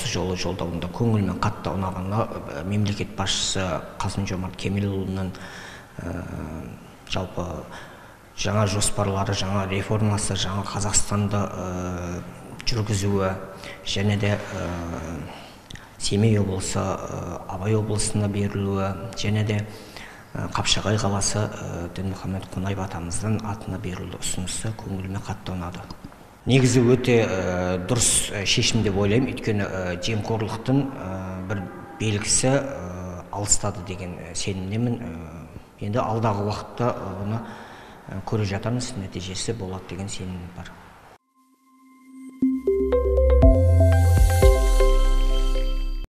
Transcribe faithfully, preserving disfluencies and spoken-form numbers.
осы жолы жолдауында көңіліме қатты ұнағаны мемлекет басшысы Касым-Жомарт Кемелұлының жалпы жаңа жоспарлары, жаңа реформасы, жаңа Қазақстанды жүргізуі, және де Семей облысы, Абай облысына берілуі, және де Қапшағай қаласы Дінмұхамед Қонаев атамыздың атына берілді ұсынысы көңіліме қатты ұнады. Негізі өте дұрыс шешім деп ойлаймын, өйткені жемқорлықтың бір белгісі алыстады деген сенімдемін. Енді алдағы уақытта оны көре жатармыз, нәтижесі болады деген сенім бар.